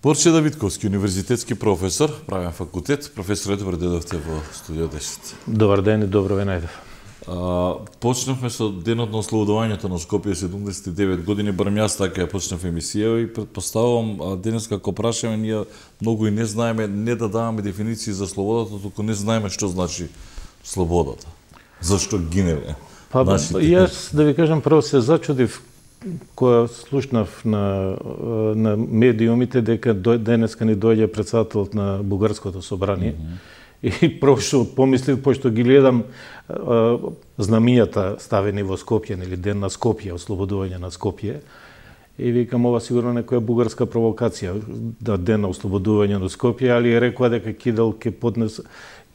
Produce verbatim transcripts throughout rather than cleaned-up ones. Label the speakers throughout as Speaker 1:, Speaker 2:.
Speaker 1: Борче Давидковски, универзитетски професор, правен факултет. Професоре, добро дојдовте во студио десет.
Speaker 2: Добар ден и добро ве најдов.
Speaker 1: Почнавме со денот на ослободувањето на Скопје, седумдесет и девет години, барем јас така ја почнав емисија и предпоставувам денес како прашаме, ние многу и не знаеме, не да даваме дефиниции за слободата, туку не знаеме што значи слободата. Зашто гинеле?
Speaker 2: Па, нашите... Јас да ви кажам, прво се зачудив кога слушнав на, на медиумите дека денеска ни дојде председателот на Бугарското собрание. Mm -hmm. И прво што помислив, пошто ги гледам а, знамињата ставени во Скопје, или ден на Скопје, ослободување на Скопје, и викам, ова сигурно некоја бугарска провокација, да ден на ослободување на Скопје, али рекоа дека Кидал ќе поднесе,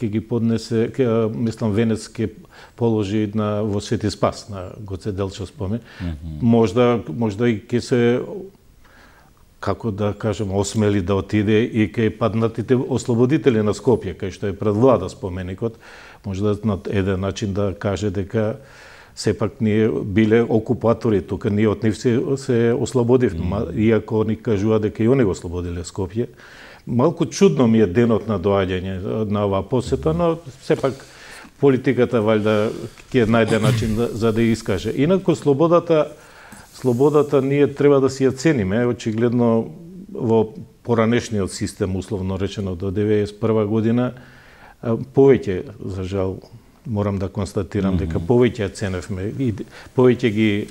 Speaker 2: ќе ги поднесе, ке, мислам, венец ќе положи на во Свети Спас, на Гоце Делчев спомен. Mm -hmm. Можда, можда и ќе се, како да кажем, осмели да отиде и кај паднатите ослободители на Скопје, кај што е пред влада споменикот, можда на еден начин да каже дека сепак ние биле окупатори, тука ние од нив се, се ослободивме, mm -hmm. иако ни кажува дека и они го ослободиле Скопје. Малку чудно ми е денот на доаѓање на оваа посета, но сепак политиката валјда ќе најде начин да, за да ја искаже. Инаку слободата, слободата ние треба да си ја цениме, очигледно во поранешниот систем, условно речено до деветдесет и прва година, повеќе, за жал, морам да констатирам, mm -hmm. дека повеќе ја ценевме и повеќе ги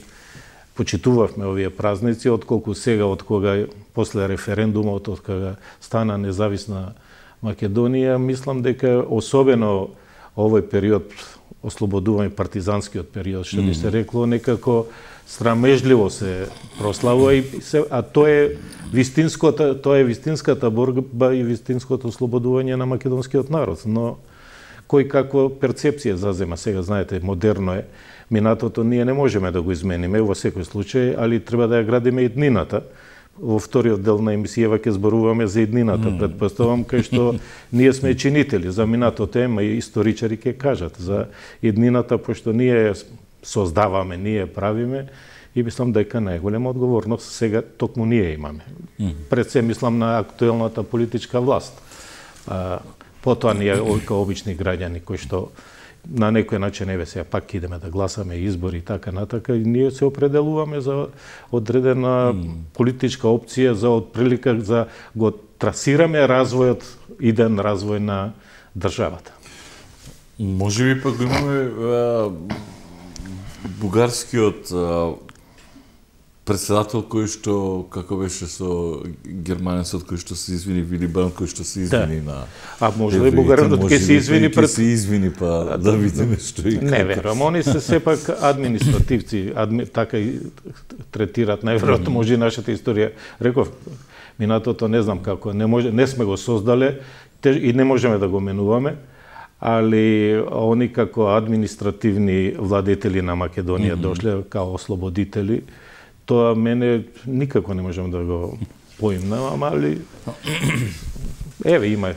Speaker 2: почитувавме овие празници, отколку сега, од кога после референдумот, од кога стана независна Македонија. Мислам дека особено овој период, ослободување, партизанскиот период, што би се рекло, некако срамежливо се прославува, и се, а тоа е вистинската, тоа е вистинската борба и вистинското ослободување на македонскиот народ. Но кој каква перцепција зазема сега, знаете, модерно е. Минатото ние не можеме да го измениме во секој случај, али треба да ја градиме и иднината. Во вториот дел на емисијава ќе зборуваме за иднината, mm. предпоставам, кај што ние сме чинители. За минатото ема и историчари ќе кажат за иднината, пошто ние создаваме, ние правиме, и мислам дека најголема одговорност сега токму ние имаме. Mm. Пред се мислам на актуелната политичка власт. А, потоа ние као обични граѓани кои што на некој начин, еве сега пак идеме да гласаме избори и така натака, и ние се определуваме за одредена mm. политичка опција, за отприлика, за го трасираме развојот, иден развој на државата.
Speaker 1: Може би пак имаме а, бугарскиот а, председател кој што, како беше со германецот кој што се извини, Вили Бранд, кој што се извини да. на...
Speaker 2: А може ли бугаранот ќе се извини пред...
Speaker 1: Ќе се извини, па да, да видиме што и...
Speaker 2: Не верувам, они се сепак административци, адми... така и третират, најверојатно може и нашата историја. Реков, минатото не знам како, не, може, не сме го создале и не можеме да го менуваме, али они како административни владетели на Македонија mm -hmm. дошле као ослободители. Тоа мене никако не можам да го поимнам, али еве има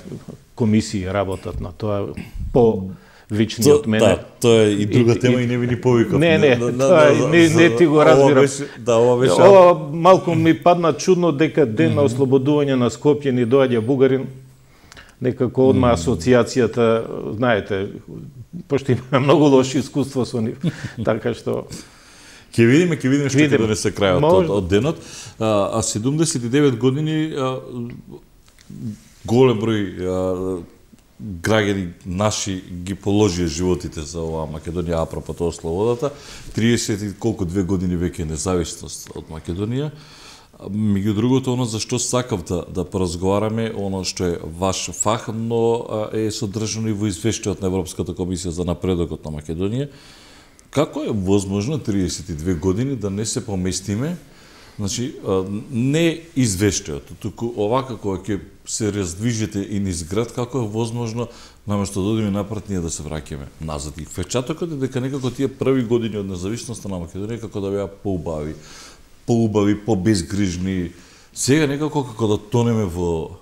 Speaker 2: комисии работат на тоа по вични од мене.
Speaker 1: Да, тоа е и друга и, тема и, и не ми ни повикав.
Speaker 2: Не, не, на, тоа на, не, не ти го разбирам. Ова беше,
Speaker 1: да, ова беше.
Speaker 2: Ова малку ми падна чудно дека ден mm -hmm. на ослободување на Скопје ни доаѓа бугарин. Некако одма mm -hmm. асоциацијата, знаете, пошто има многу лоши искуство со нив, така што
Speaker 1: Ќе видиме, ќе видиме што ќе донесе крајот од, од денот. А, а седумдесет и девет години, а, голем број а, граѓани наши ги положија животите за оваа Македонија, апропо тоа слободата. триесет и колку две години веќе независност од Македонија. Меѓу другото, оно за што сакав да, да поразговараме, оно што е ваш фах, но а, е содржано и во извештајот на Европската комисија за напредокот на Македонија. Како е возможно триесет и две години да не се поместиме, значи, не извештајот, туку овака кога ќе се раздвижите и низ град, како е возможно, наместо да одиме напред, ние да се враќаме назад. И впечатокот е дека некако тие први години од независноста на Македонија како да беа поубави, поубави, побезгрижни. Сега некако како да тонеме во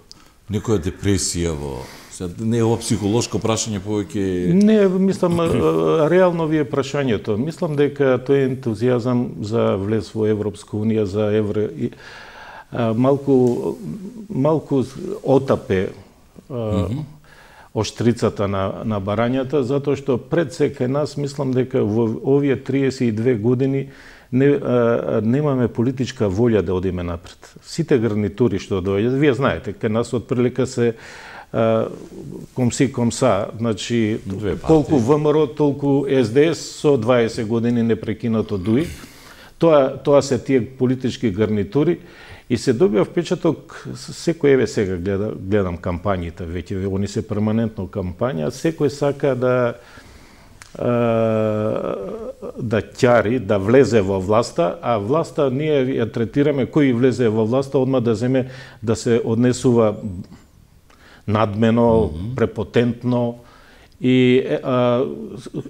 Speaker 1: некоја депресија, во не е ова психолошко прашање повеќе...
Speaker 2: Не, мислам, реално ви е прашањето. Мислам дека тој ентузијазам за влез во Европска Унија, за евро... малку малку отапе mm-hmm. Оштрицата на, на барањата, затоа што пред се кај нас, мислам дека во овие триесет и две години не, а, немаме политичка волја да одиме напред. Сите гарнитури што доаѓаат, вие знаете, кај нас отприлика се а, комси комса, значи колку ВМРО, толку С Д С со дваесет години непрекинато дуи. Тоа, тоа се тие политички гарнитури. И се добива впечаток, секој еве сега гледа, гледам кампањите, веќе они се перманентно кампања, секој сака да да ќари, да влезе во власта, а власта ние ја третираме кој влезе во власта одма да земе да се однесува надмено, mm-hmm. препотентно. И а,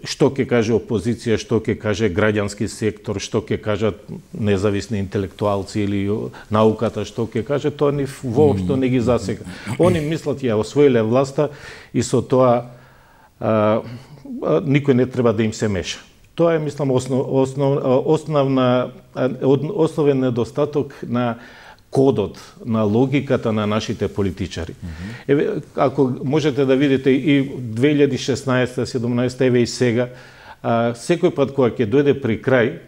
Speaker 2: што ќе каже опозиција, што ќе каже граѓански сектор, што ќе кажат независни интелектуалци или науката, што ќе каже, тоа ни воопшто не ги засега. Они мислат ја освоиле власта и со тоа а, а, никој не треба да им се меша. Тоа е, мислам, основ, основ, основна, основен недостаток на кодот, на логиката на нашите политичари. Mm-hmm. Еве, ако можете да видите и две илјади и шеснаесета, седумнаесета, еве и сега, а, секој пат кога ќе дојде при крај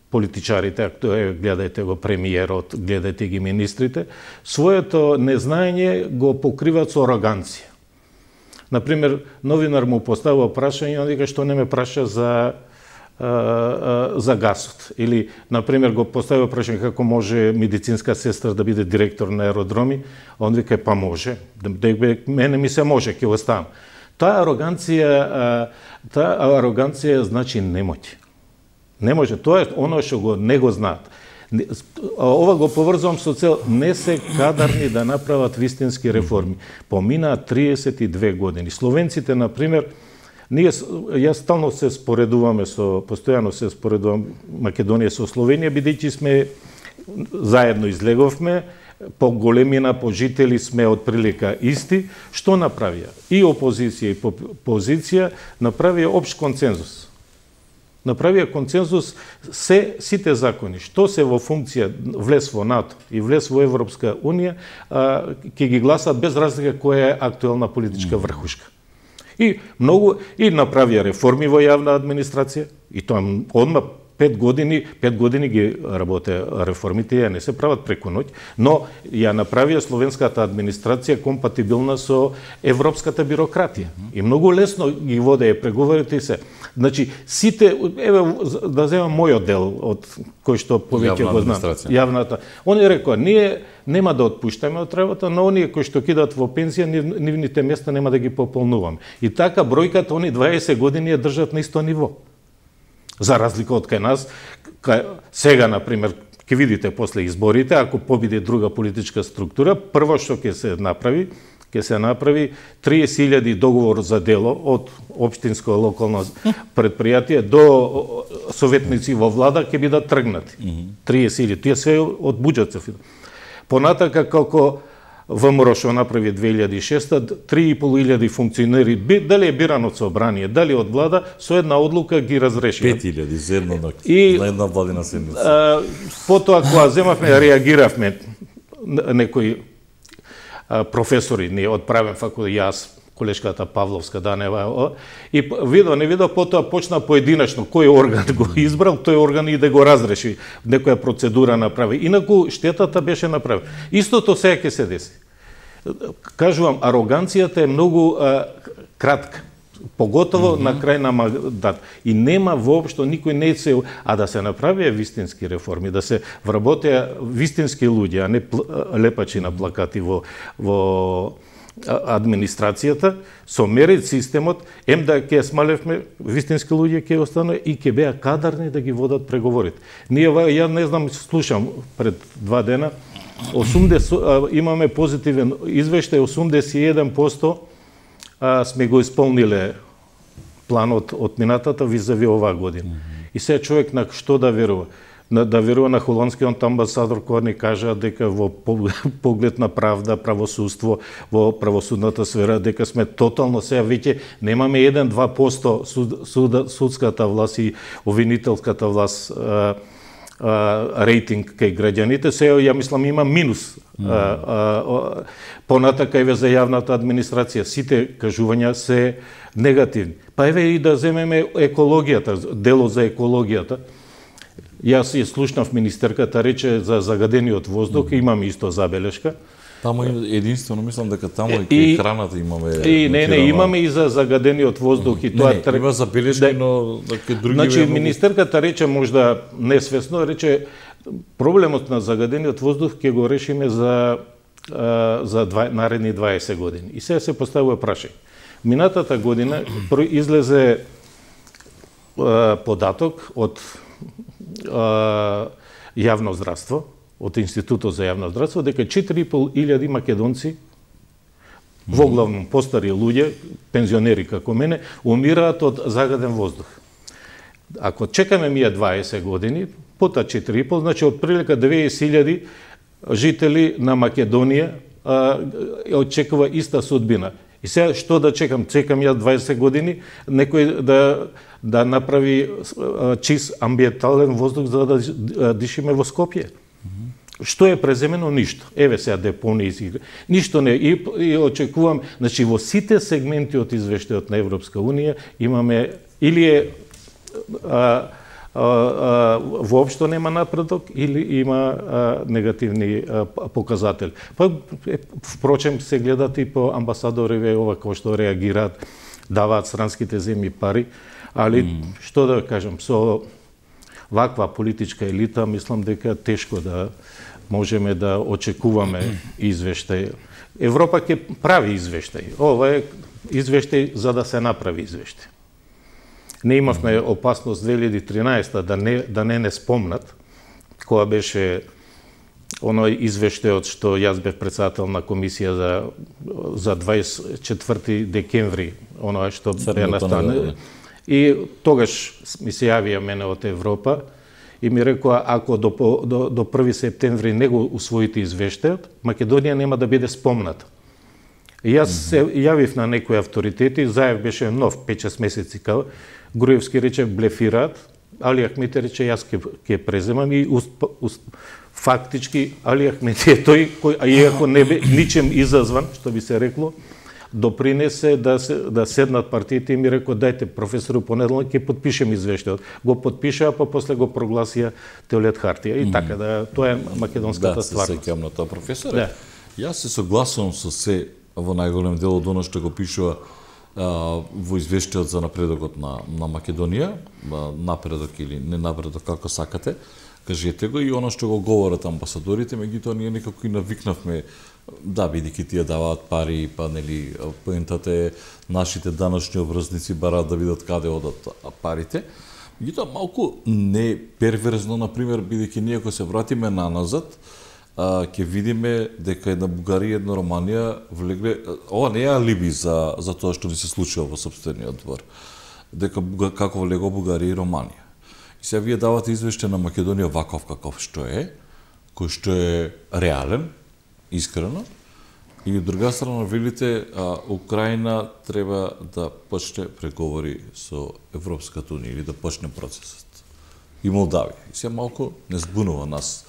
Speaker 2: политичарите, ако е, гледајте го премиерот, гледајте ги министрите, своето незнаење го покриват со ароганција. Например, новинар му поставува прашање, он вика што не ме праша за за гасот. Или, например, го поставува прашање како може медицинска сестра да биде директор на аеродроми, он вика па може, мене ми се може, ќе оставам. Таа ароганција, таа ароганција значи немоќ. Не може, тоа е оно што го не го знаат. Ова го поврзувам со цел, не се кадарни да направат вистински реформи. Поминаа триесет и две години. Словенците, например, ние, јас стално се споредуваме со, постојано се споредувам Македонија со Словенија, бидејќи сме заедно излеговме, по големина, по жители сме отприлика исти. Што направија? И опозиција и позиција направија општ консензус. Направија консензус се сите закони, што се во функција влез во НАТО и влез во Европска Унија, ќе ги гласат без разлика која е актуелна политичка врхушка. И многу и направија реформи во јавна администрација, и тоа одма пет години, пет години ги работе реформите, ја не се прават преку ноќ, но ја направија словенската администрација компатибилна со европската бирократија. И многу лесно ги воде преговорите и се. Значи, сите, еве, да земам мојот дел од кој што повеќе го знам, јавната. Они рекоа, ние нема да отпуштаме од работа, но оние кои што кидат во пензија, нивните места нема да ги пополнуваме. И така бројката они дваесет години ја држат на исто ниво. За разлика од кај нас, кај, сега, например, ќе видите после изборите, ако победи друга политичка структура, прво што ќе се направи, ќе се направи триесет илјади договор за дело од општинско локално предпријатие до советници во влада ќе бидат тргнати. триесет илјади, тие се од буџет се. Понатака како ВМРО што направи две илјади и шеста, три и пол илјади функционери, дали е биран од собрание, дали од влада, со една одлука ги разреши.
Speaker 1: пет илјади за една ноќ, и, на една владина седмица.
Speaker 2: А, потоа, кога земавме, реагиравме, некои а, професори, не одправен факултет, јас, колешката Павловска Данева, и видо, не видо, потоа почна поединечно, кој орган го избрал, тој орган и да го разреши, некоја процедура направи. Инаку штетата беше направена. Истото сега ќе се деси. Кажувам, ароганцијата е многу а, кратка, поготово mm-hmm. на крај на мандат. И нема воопшто никој не се, а да се направија вистински реформи, да се вработеа вистински луѓе, а не лепачи на плакати во во администрацијата, со мерит системот, ем да ќе смалевме, вистински луѓе ќе останува и ќе беа кадарни да ги водат преговорите. Ние, ја не знам, слушам пред два дена, осумдесет, имаме позитивен извештај, осумдесет и еден проценти сме го исполниле планот од минатата визави оваа година. Mm-hmm. И сега човек на што да верува? На, да верува на холандскиот амбасадор кој ни кажа дека во поглед на правда, правосудство, во правосудната сфера, дека сме тотално сега веќе немаме еден-два проценти суд, суд, судската власт и обвинителската власт а, а, рейтинг кај граѓаните, се ја мислам има минус. Mm. А, а, понатака еве за јавната администрација, сите кажувања се негативни. Па еве и да земеме екологијата, дело за екологијата. Јас ја слушнав министерката рече за загадениот воздух, mm. имам исто забелешка.
Speaker 1: Таму единствено мислам дека таму и кај храната имаме.
Speaker 2: И не, не, имаме и за загадениот воздух и тоа
Speaker 1: не, има забелешки, но кај други.
Speaker 2: Значи министерката рече можда несвесно рече проблемот на загадениот воздух ќе го решиме за за два, наредни дваесет години. И сега се поставува прашање. Минатата година излезе податок од јавно здравство, од Институтот за јавно здравство, дека четири и пол илјади македонци, во главном постари луѓе, пензионери како мене, умираат од загаден воздух. Ако чекаме ние дваесет години, пота четири и пол, значи од прилика деветдесет илјади жители на Македонија а, очекува иста судбина. И сега што да чекам? Чекам ја дваесет години некој да да направи а, чист амбиентален воздух за да дишиме во Скопје. Што е преземено? Ништо. Еве сега депонии, ништо не. И, и очекувам, значи во сите сегменти од извештајот на Европска Унија имаме или е а, а, а, воопшто нема напредок или има а, негативни а, показатели. Па впрочем се гледат и по амбасадориве ова кој што реагираат, даваат странските земји пари, али mm. што да кажам, со ваква политичка елита мислам дека тешко да можеме да очекуваме извештај. Европа ќе прави извештај. Ова е извештај за да се направи извештај. Не имавме опасност две илјади и тринаесета да не да не не спомнат која беше оној извештајот што јас бев председател на комисија за за дваесет и четврти декември, оној што бе настане. И тогаш ми се јавија мене од Европа и ми рекоа ако до, до, до први септември не го усвоите извештајот, Македонија нема да биде спомната. И јас mm-hmm. се јавив на некои авторитети, Заев беше нов пет-шест месеци као, Груевски рече блефираат, Али Ахмети рече јас ќе ќе преземам и уст, уст, фактички Али Ахмети е тој кој, а иако не бе ничем изазван, што би се рекло, допринесе да се да седнат партиите и ми рекоа дајте професору понеделник ќе подпишем извештајот. Го подпишаа, па после го прогласија Теолет Хартија и mm. така да тоа е македонската
Speaker 1: да,
Speaker 2: стварност.
Speaker 1: Да, се сеќавам на тоа професоре.
Speaker 2: Да.
Speaker 1: Јас се согласувам со се во најголем дел од оно што го пишува а, во извештајот за напредокот на на Македонија, напредок или не напредок како сакате. Кажете го и оно што го говорат амбасадорите, меѓутоа ние некако и навикнавме да, бидејќи тие даваат пари, па нели поентата е нашите даночни обврзници бараат да видат каде одат парите. Меѓутоа малку не перверзно, например, бидејќи ние ако се вратиме наназад, а, ќе видиме дека една Бугарија и една Романија влегле, ова не е алиби за за тоа што ни се случува во сопствениот двор. Дека како влего Бугарија и Романија. И сега вие давате извештај на Македонија ваков каков што е, кој што е реален, искрено, и од друга страна велите а, Украина треба да почне преговори со Европската унија или да почне процесот. И Молдавија. И сега малку не збунува нас.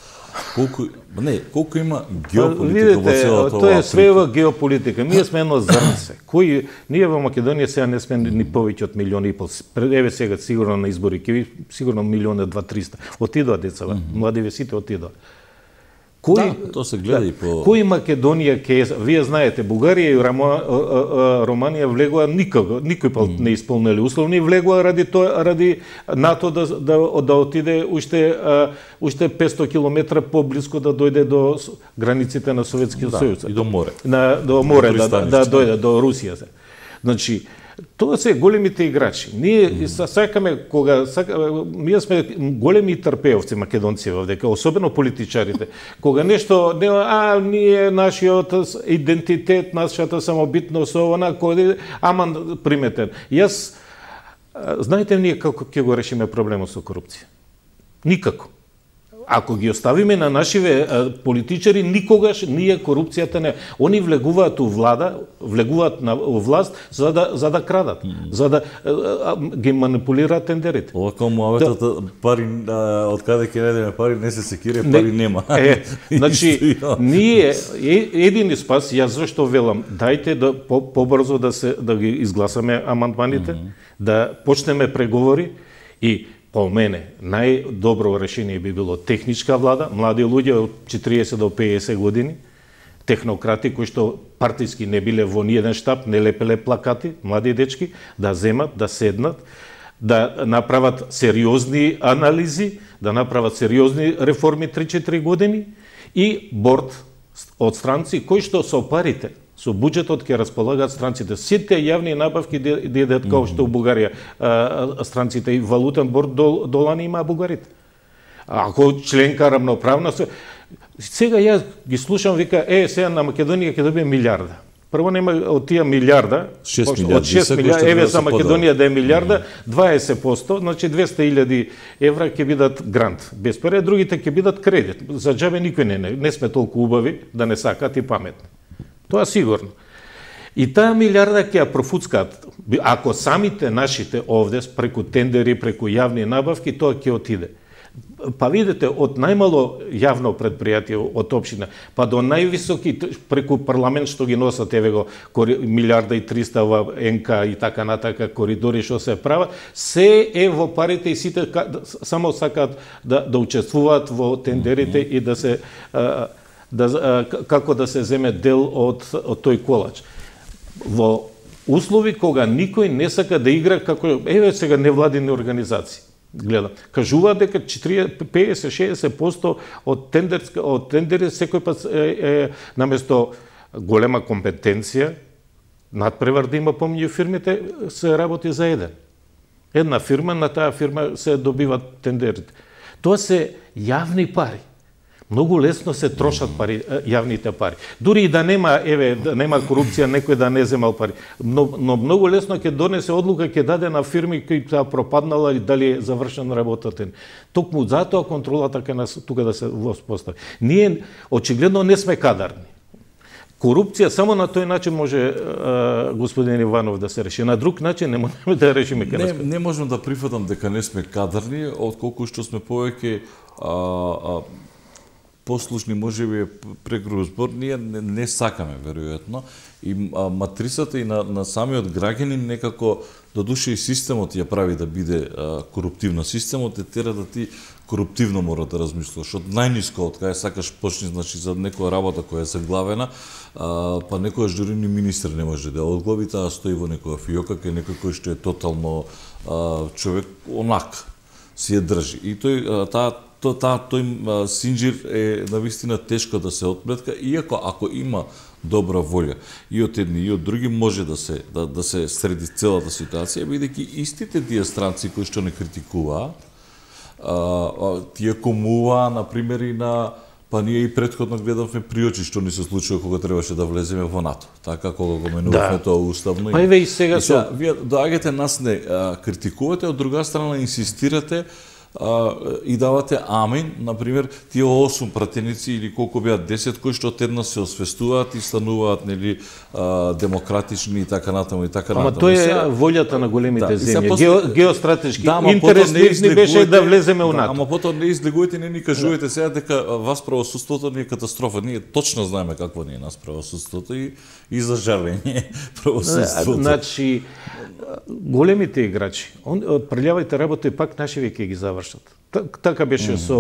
Speaker 1: Колку не, колку има геополитика во целата оваа.
Speaker 2: Тоа е свева геополитика. Ние сме едно зрнце. Кои ние во Македонија сега не сме ни повеќе од милион и пол. Еве сега сигурно на избори ќе сигурно милион и два триста. Отидоа децава, mm -hmm. младиве сите отидоа.
Speaker 1: Кој да, тоа се гледа да, и по
Speaker 2: кој Македонија ќе вие знаете Бугарија и Рама, Романија влегоа никога, никој пат mm. не исполнили условни, влегоа ради тоа ради НАТО да да да отиде уште уште петсто километра поблиску да дојде до границите на Советскиот
Speaker 1: да,
Speaker 2: сојуз
Speaker 1: и до море.
Speaker 2: На до море да, да, да дојде до Русија. Значи тоа се големите играчи. Ние mm. сакаме кога сака, ние сме големи трпеовци македонци овде, особено политичарите. Кога нешто не а ние нашиот идентитет, нашата самобитност она кој аман приметен. Јас знаете ние како ќе го решиме проблемот со корупција? Никако. ако ги оставиме на нашиве политичари, никогаш ние корупцијата не. Они влегуваат у влада, влегуваат на власт за да за да крадат, mm. за да а, ги манипулираат тендерите.
Speaker 1: Ова како муаветот да. Пари од каде ќе најдеме пари, не се секире, пари не, нема.
Speaker 2: Е, значи ние едини спас, јас зашто велам, дајте да по, побрзо да се да ги изгласаме амандманите, mm. да почнеме преговори и по мене, најдобро решение би било техничка влада, млади луѓе од четириесет до пеесет години, технократи кои што партиски не биле во ниеден штаб, не лепеле плакати, млади дечки, да земат, да седнат, да направат сериозни анализи, да направат сериозни реформи три-четири години и борд од странци кои што со парите, со буџетот ќе располагаат странците. Сите јавни набавки идат како што у Бугарија странците и валутен борд долани има бугарите. Ако членка рамноправна, сега јас ги слушам, вика, е, сега на Македонија ќе добие милиарда. Прво нема од тие милиарда,
Speaker 1: шест
Speaker 2: од шест милиарда, еве за Македонија да е милиарда, дваесет проценти, значи двесте илјади евра ќе бидат грант. Без пари, другите ќе бидат кредит. За џабе никој не, не, не сме толку убави да не сакат и паметни. Тоа сигурно. И таа милиарда ќе ја профуцкаат. Ако самите нашите овде, преку тендери, преку јавни набавки, тоа ќе отиде. Па видите, од најмало јавно предпријатие од општина, па до највисоки преку парламент што ги носат, еве го, милиарда и триста во Ен Ка и така натака, коридори што се прават, се е во парите и сите само сакаат да, да учествуваат во тендерите и да се... Да, како да се земе дел од, од тој колач. Во услови кога никој не сака да игра како, еве сега невладини организации. Гледам, кажуваат дека пеесет-шеесет проценти од тендерска од тендери секој пат е, е наместо голема компетенција, надпревар да има помеѓу фирмите, се работи за еден. Една фирма, на таа фирма се добиват тендерите. Тоа се јавни пари. Многу лесно се трошат пари, јавните пари. Дури и да нема, еве, да нема корупција, некој да не земал пари. Но, но многу лесно ќе донесе одлука, ќе даде на фирми кои таа пропаднала или дали е завршена работата. Токму затоа контролата ќе нас тука да се воспостави. Ние очигледно не сме кадарни. Корупција само на тој начин може а, господин Иванов да се реши. На друг начин не можеме да решиме ке нас.
Speaker 1: Не, не можам да прифатам дека не сме кадарни, отколку што сме повеќе а, а, послушни, можеби е прегруз збор, ние не, не сакаме, веројатно, и а, матрицата и на, на самиот граѓанин некако, до душе и системот ја прави да биде а, коруптивно. Системот е тера да ти коруптивно мора да размислуваш. Од најниско, од кај сакаш почни, значи, за некоја работа која е заглавена, а, па некојаш дури ни министр не може да одглави, таа стои во некоја фиока, кај некој кој што е тотално а, човек онак си ја држи. И тој, а, таа То, та, тој синџир е навистина тешко да се отплетка, иако ако има добра волја и од едни и од други може да се да, да се среди целата ситуација, бидејќи истите тие странци кои што не критикуваат, тие комуваа на пример и на па ние и претходно гледавме приочи што ни се случува кога требаше да влеземе во НАТО, така кога го менувавме да. Тоа уставно.
Speaker 2: Па еве и сега
Speaker 1: и сега, со вие доаѓате нас не а, критикувате, од друга страна инсистирате Uh, и давате амин, например, тие осум пратеници или колку беа десет кои што одеднаш се освестуваат и стануваат, нели, uh, демократични и така натаму и така натаму.
Speaker 2: Ама тоа е волјата на големите да, земји. После... Гео, геостратешки да, интерес не беше да влеземе у НАТО.
Speaker 1: Ама потоа не излегувате, не ни кажувате сега дека вас правосудството ни е катастрофа. Ние точно знаеме какво ни е нас правосудството и и за жалење правосудството.
Speaker 2: Значи големите играчи, он прелявајте работа и пак нашиве ќе ги завршат. Така беше mm -hmm. со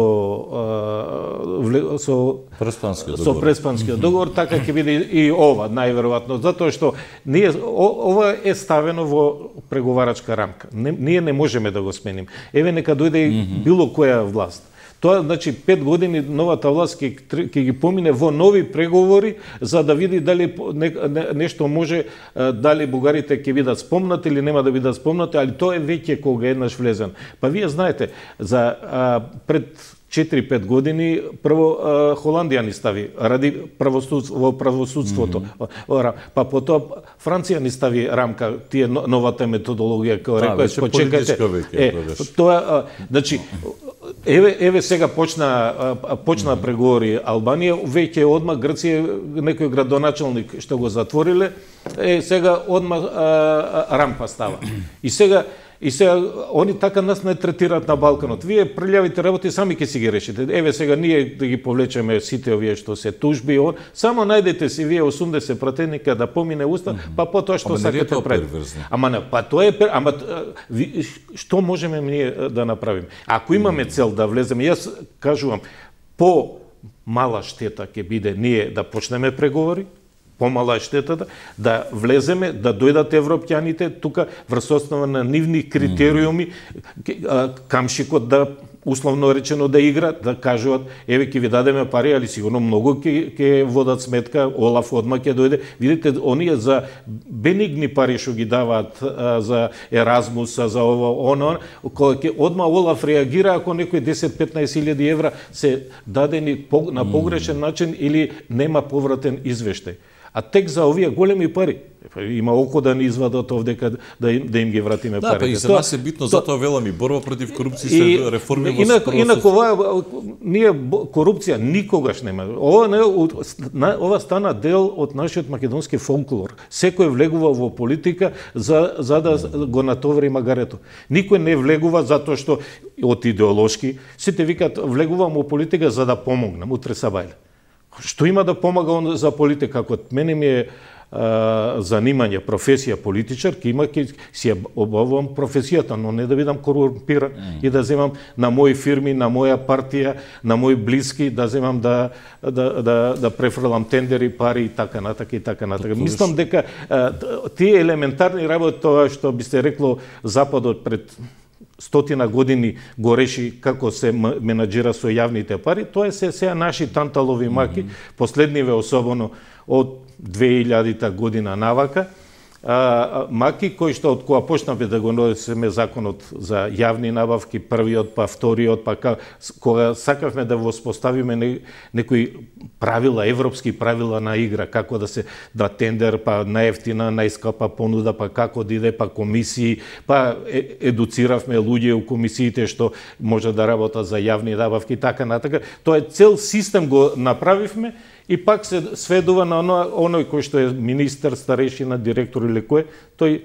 Speaker 2: со
Speaker 1: преспанскиот
Speaker 2: договор. Со преспанскиот договор, така ќе биде и ова најверојатно, затоа што ние ова е ставено во преговарачка рамка. Не, ние не можеме да го сменим. Еве нека дојде mm -hmm. било која власт. Тоа значи пет години новата власт ќе ќе ги помине во нови преговори за да види дали не, не, нешто може, дали бугарите ќе бидат спомнати или нема да бидат спомнати, али тоа е веќе кога еднаш влезен. Па вие знаете, за а, пред четири-пет години прво а, Холандија ни стави ради правосудство во правосудството. Mm -hmm. Па потоа Франција ни стави рамка, тие новата методологија која рекоа, почекајте. Е, тоа а, значи Еве, еве сега почна почна mm-hmm. преговори Албанија, веќе одма Грција некој градоначалник што го затвориле, е сега одма а, а, рампа става. И сега И сега, они така нас не третираат на Балканот. Вие прљавите работи сами ќе си ги решите. Еве сега ние да ги повлечеме сите овие што се тужби, он, само најдете си вие осумдесет пратеника да помине уста, mm-hmm. па потоа што сакате пред. Ама не, па тоа е, ама ви, што можеме ние да направиме? Ако имаме цел да влеземе, јас кажувам, по мала штета ќе биде ние да почнеме преговори, помала е штетата, да влеземе, да дојдат европјаните тука врз основа на нивни критериуми, камшикот да условно речено да игра, да кажуваат еве ќе ви дадеме пари, али сигурно многу ќе ќе водат сметка, Олаф одма ќе дојде. Видите, оние за бенигни пари што ги даваат за Еразмус, за ово оно, кога ќе одма Олаф реагира ако некој десет-петнаесет илјади евра се дадени на погрешен начин или нема повратен извештај. А тек за овие големи пари, има око да ни извадат овдека да им, да им ги вратиме
Speaker 1: да,
Speaker 2: парите.
Speaker 1: Да, па и за нас е битно, то, затоа велам и борба против корупција се реформи во
Speaker 2: инак, инак ова, ние корупција никогаш нема. Ова, не, ова стана дел од нашиот македонски фолклор. Секој влегува во политика за, за да го натовари магарето. Никој не влегува затоа што од идеолошки, сите викат влегувам во политика за да помогнам, утре сабајле. Што има да помага он за политика? Ако мене ми е а, занимање, професија политичар, ке има ке си обавувам професијата, но не да бидам корумпиран mm. и да земам на мои фирми, на моја партија, на мои блиски, да земам да да да, да префрлам тендери, пари и така натака и така натака. Мислам дека а, тие елементарни работи, тоа што би се рекло Западот пред стотина години го реши како се менаџира со јавните пари, тоа се сега наши танталови маки, mm-hmm. последниве особено од две илјадита година навака, а, маки кои што од кога почнавме да го носиме законот за јавни набавки, првиот па вториот, па кога сакавме да воспоставиме не, некои правила, европски правила на игра, како да се да тендер, па наевтина, најскапа понуда, па како да иде, па комисии, па е, едуциравме луѓе у комисиите што може да работат за јавни набавки, така натака. Тоа е цел систем го направивме. И пак се сведува на оно, оној кој што е министер, старешина, директор или кој, тој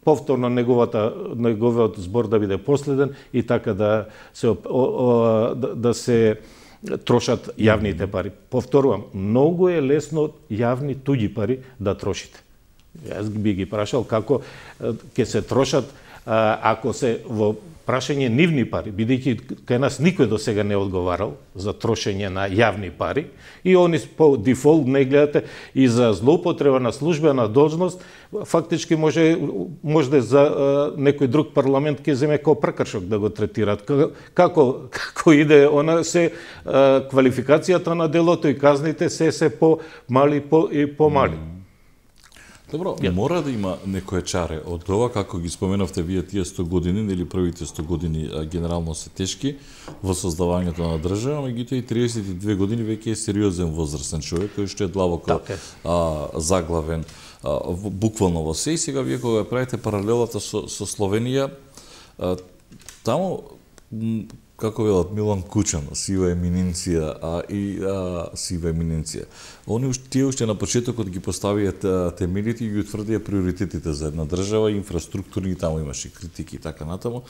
Speaker 2: повторно неговата неговиот збор да биде последен и така да се о, о, да, да се трошат јавните пари. Повторувам, многу е лесно јавни туѓи пари да трошите. Јас би ги прашал како ќе се трошат ако се во прашање нивни пари, бидејќи кај нас никој до сега не одговарал за трошење на јавни пари и они по дефолт не гледате и за злоупотреба на службена должност, фактички може може да за uh, некој друг парламент ќе земе како прекршок да го третираат. Како како иде она се uh, квалификацијата на делото и казните се се по мали по и помали. Mm.
Speaker 1: Добро, yeah. мора да има некое чаре од ова, како ги споменавте вие тие сто години, или првите сто години а, генерално се тешки во создавањето на држава, меѓутоа и триесет и две години веќе е сериозен возрастен човек кој што е длабоко okay. а, заглавен а, буквално во се. И сега вие кога правите паралелата со, со Словенија, а, таму како велат Милан Кучан, сива еминенција, а и а, сива еминенција. Они тие уште на почетокот ги поставија темелите и ги утврдија приоритетите за една држава, инфраструктурни, таму имаше критики и така натаму.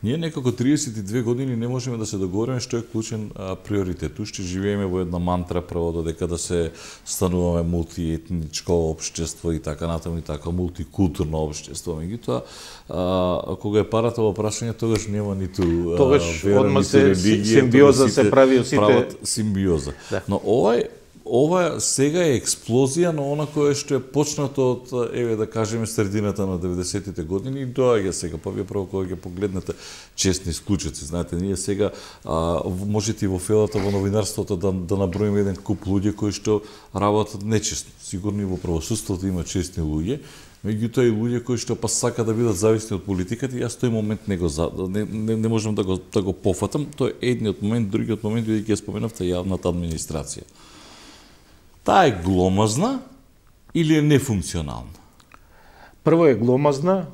Speaker 1: Ние некако триесет и две години не можеме да се договориме што е клучен а, приоритет. Уште живееме во една мантра право додека да се стануваме мултиетничко општество и така натаму и така мултикултурно општество. Меѓутоа, кога е парата во прашање, тогаш нема ниту
Speaker 2: тогаш одма се симбиоза се прави сите
Speaker 1: прават симбиоза. Да. Но овај ова сега е експлозија на она кое што е почнато од, еве да кажеме, средината на деветдесетите години и доаѓа сега, па вие прво кога ќе погледнете честни случаи, знаете, ние сега а, можете и во фелата во новинарството да, да наброиме еден куп луѓе кои што работат нечестно. Сигурно и во правосудството има честни луѓе, меѓутоа и луѓе кои што па сака да бидат зависни од политиката, и јас тој момент не го не, не, не можам да го да го пофатам. Тој е едниот момент, другиот момент бидејќи ја споменавте јавната администрација. Таа е гломазна или е нефункционална?
Speaker 2: Прво е гломазна,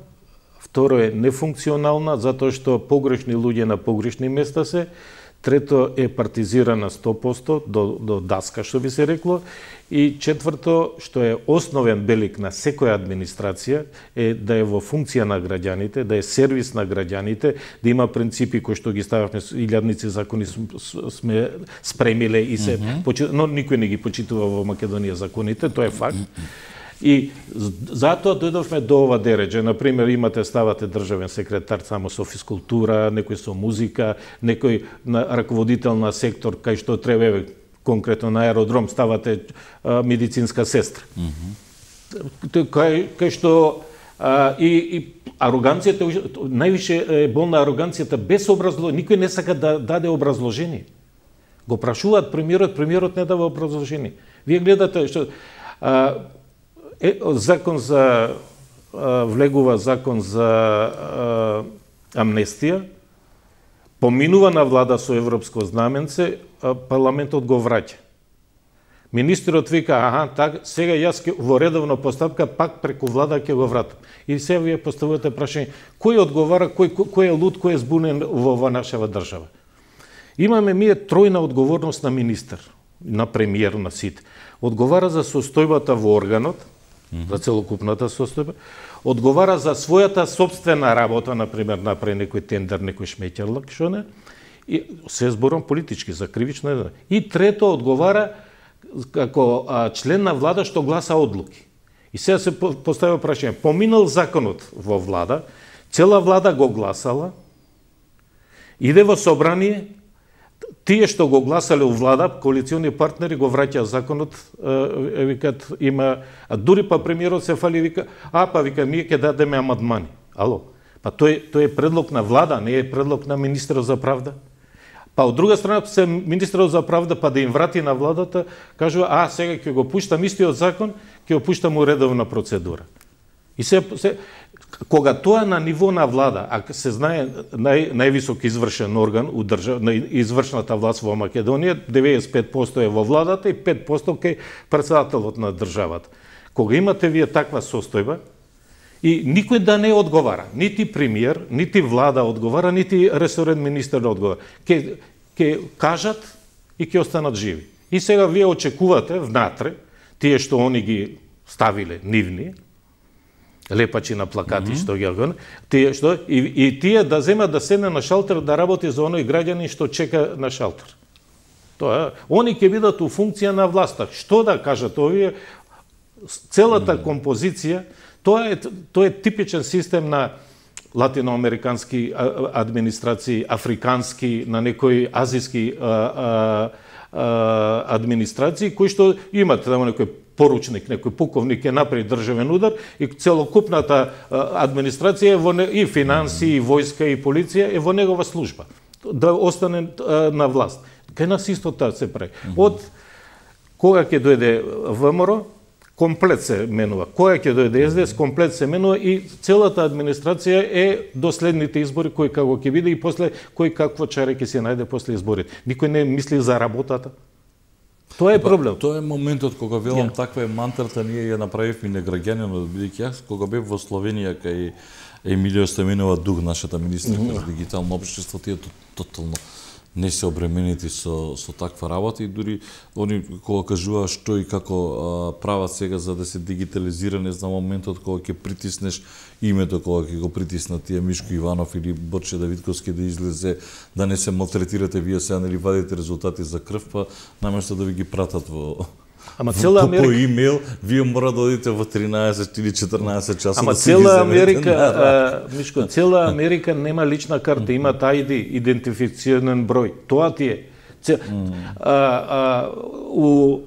Speaker 2: второ е нефункционална, затоа што погрешни луѓе на погрешни места се, трето е партизирана сто проценти до, до даска, што би се рекло, и четврто, што е основен белик на секоја администрација, е да е во функција на граѓаните, да е сервис на граѓаните, да има принципи кои што ги стававме, илјадници закони сме спремиле и се, mm -hmm. но никој не ги почитува во Македонија законите, тоа е факт. И затоа дојдовме до ова дереđe. Например, имате, ставате државен секретар само со физкултура, некој со музика, некој на раководител на сектор, кај што треба, конкретно на аеродром, ставате а, медицинска сестра. Mm -hmm. Кај, кај што а, и, и ароганцијата, највише е болна ароганцијата без образложение. Никој не сака да даде образложение. Го прашуваат премиерот, премиерот не дава образложение. Вие гледате што а, Е, закон за а, влегува закон за а, амнестија, поминува на влада со европско знаменце, а парламентот го враќа. Министерот вика, аха, так, сега јас ке, во редовна постапка пак преку влада ќе го вратам. И сега вие поставувате прашање, кој одговара, кој, кој е луд, кој е збунен во ова нашава држава? Имаме ние тројна одговорност на министер, на премиер, на сите. Одговара за состојбата во органот, за целокупната состојба, одговара за својата собствена работа, например, направи некој тендер, некој шмеќарлак, што не, и се зборам политички, за кривично. И трето, одговара како а, член на влада што гласа одлуки. И сега се поставува прашање, поминал законот во влада, цела влада го гласала, иде во собрание, тие што го гласале у влада, коалициони партнери, го враќа законот, е, викат, има, а дури па премиерот се фали, вика, а па вика, ние ќе дадеме амандмани. Ало, па тој, тој е предлог на влада, не е предлог на министерот за правда. Па од друга страна, се министерот за правда, па да им врати на владата, кажува, а сега ќе го пуштам истиот закон, ќе го пуштам у редовна процедура. И се, се кога тоа на ниво на влада, а се знае нај, највисок извршен орган у држав, на извршната власт во Македонија, деветдесет и пет проценти е во владата и пет проценти кај претседателот на државата. Кога имате вие таква состојба, и никој да не одговара, нити премиер, нити влада одговара, нити ресорен министер одговара, ке, ке кажат и ќе останат живи. И сега вие очекувате внатре, тие што они ги ставиле нивни, лепачи на плакати, mm -hmm. што ги тие што и, и тие да земат да седне на шалтер да работи за оној граѓанин што чека на шалтер. Тоа, они ќе бидат у функција на власта. Што да кажат овие? Целата mm -hmm. композиција, тоа е тоа е типичен систем на латиноамерикански администрации, африкански, на некои азиски а, а, а, администрации кои што имат тамо некој поручник, некој пуковник е направи државен удар и целокупната администрација е во не, и финанси, и војска, и полиција е во негова служба да остане а, на власт. Кај нас исто тоа се прави. Mm -hmm. Од кога ќе дојде ВМРО, комплет се менува. Кога ќе дојде Ес Де Ес, комплет се менува и целата администрација е до следните избори, кој како ќе биде и после кој какво чаре ќе се најде после изборите. Никој не мисли за работата. Тоа е проблем.
Speaker 1: Тоа е моментот кога велам yeah. таква е мантрата, ние ја направивме на граѓанинот, бидејќи јас кога бев во Словенија кај Емилио Стојменова Дуг, нашата министерка mm -hmm. за дигитално општество, тие тотално не се обременети со со таква работа и дури они кога кажуваа што и како а, прават сега за да се дигитализира, не знам моментот кога ќе притиснеш името, кога ќе го притиснат тие Мишко Иванов или Борче Давидковски да излезе, да не се малтретирате вие сега, нели вадите резултати за крв, па наместо да ви ги пратат во
Speaker 2: Ама цела Америка...
Speaker 1: по имейл, вие мора да одите во тринаесет или четрнаесет часа.
Speaker 2: Ама
Speaker 1: да
Speaker 2: цела Америка, а, Мишко, цела Америка нема лична карта, има ај ди, идентифицијанен број. Тоа ти е. Це, mm. а, а, у,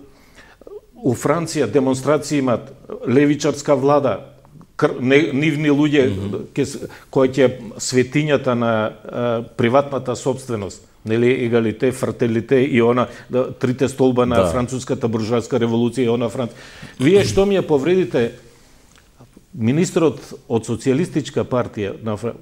Speaker 2: у Франција демонстрации имат левичарска влада, кр, не, нивни луѓе mm -hmm. кои ќе светињата на а, приватната собственост, нели егалите, фрателите и она да, трите столба на да. француската буржоаска револуција и она Франц. Вие што ми ја повредите Министрот од социјалистичка партија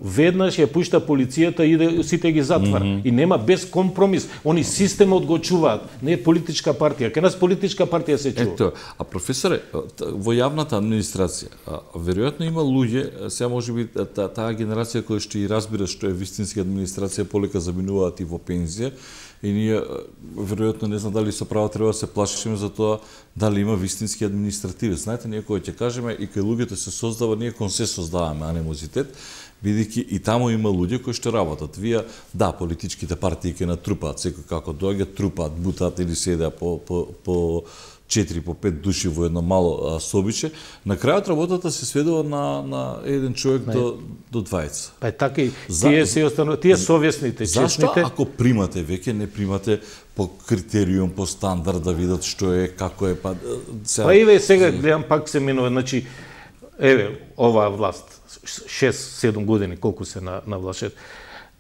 Speaker 2: веднаш ја пушта полицијата и иде сите ги затвара. Mm -hmm. И нема без компромис. Они системот го чуваат. Не е политичка партија. Кај нас политичка партија се чува.
Speaker 1: Ето, а професоре, во јавната администрација, веројатно има луѓе, сега можеби таа та генерација која што и разбира што е вистинска администрација, полека заминуваат и во пензија. И ние, веројатно, не знам дали со право треба да се плашиме за тоа дали има вистински административец. Знаете, ние кој ќе кажеме и кај луѓето се создава, ние кон се создаваме анимозитет, бидејќи и таму има луѓе кои што работат. Вие, да, политичките партии ќе натрупаат, секој како доаѓа, трупаат, бутаат или седеа по, по, по четири по пет души во едно мало а, собиче, на крајот работата се сведува на, на еден човек не. до, до двајца.
Speaker 2: Па така и тие се останува, тие совесните, честните.
Speaker 1: Зашто ако примате веќе, не примате по критериум, по стандард да видат што е, како е, па...
Speaker 2: Сега... Па еве сега гледам пак се минува, значи, еве, оваа власт, шест седум години, колку се на, на власт,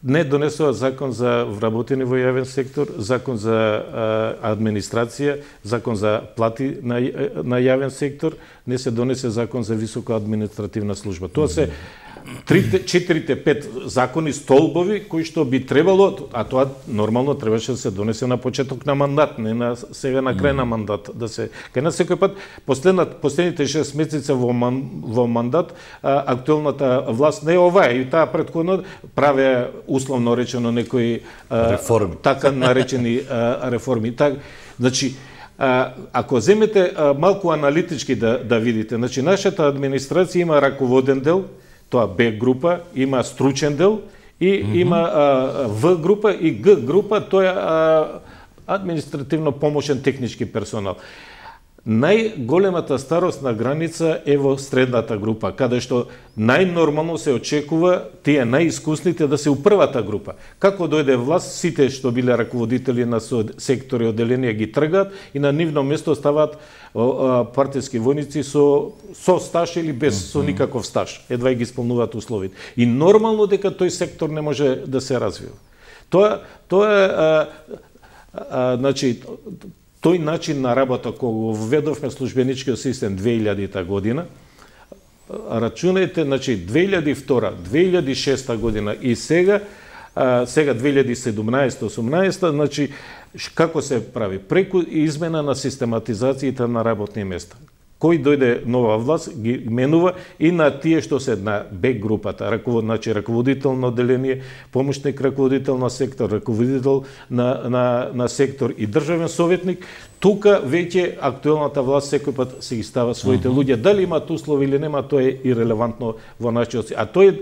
Speaker 2: не донесува закон за вработени во јавен сектор, закон за а, администрација, закон за плати на, на јавен сектор, не се донесе закон за висока административна служба. Тоа се трите, четирите, пет закони, столбови, кои што би требало, а тоа нормално требаше да се донесе на почеток на мандат, не на сега на крај на мандат, да се кај нас секој пат последнат последните шест месеци во ман, во мандат а, актуелната власт не е оваа и таа претходно праве условно речено некои а,
Speaker 1: реформи,
Speaker 2: така наречени а, реформи. Так, значи А, ако земете а, малку аналитички да, да видите, значи нашата администрација има раководен дел, тоа Б група, има стручен дел и mm -hmm. има а, В група и Г група, тоа е а, административно помошен технички персонал. Најголемата старосна граница е во средната група, каде што најнормално се очекува тие најискусните да се у првата група. Како дојде власт, сите што биле раководители на сектори одделенија ги тргаат и на нивно место ставаат партиски војници со со стаж или без mm -hmm. со никаков стаж. Едва и ги исполнуваат условите. И нормално дека тој сектор не може да се развива. Тоа тоа е а, а, значи тој начин на работа кога го введовме службеничкиот систем две илјадета година, рачунајте, значи две илјади и втора, две илјади и шеста година и сега, а, сега две илјади и седумнаесета осумнаесета, значи како се прави? Преку измена на систематизацијата на работни места. Кој дојде нова власт, ги менува и на тие што се на Б групата, раковод, значи раководител на одделение, помошник раководител на сектор, раководител на, на, на сектор и државен советник, тука веќе актуелната власт секој пат се ги става своите uh -huh. луѓе. Дали имаат услови или нема, тоа е ирелевантно во нашиот. А тој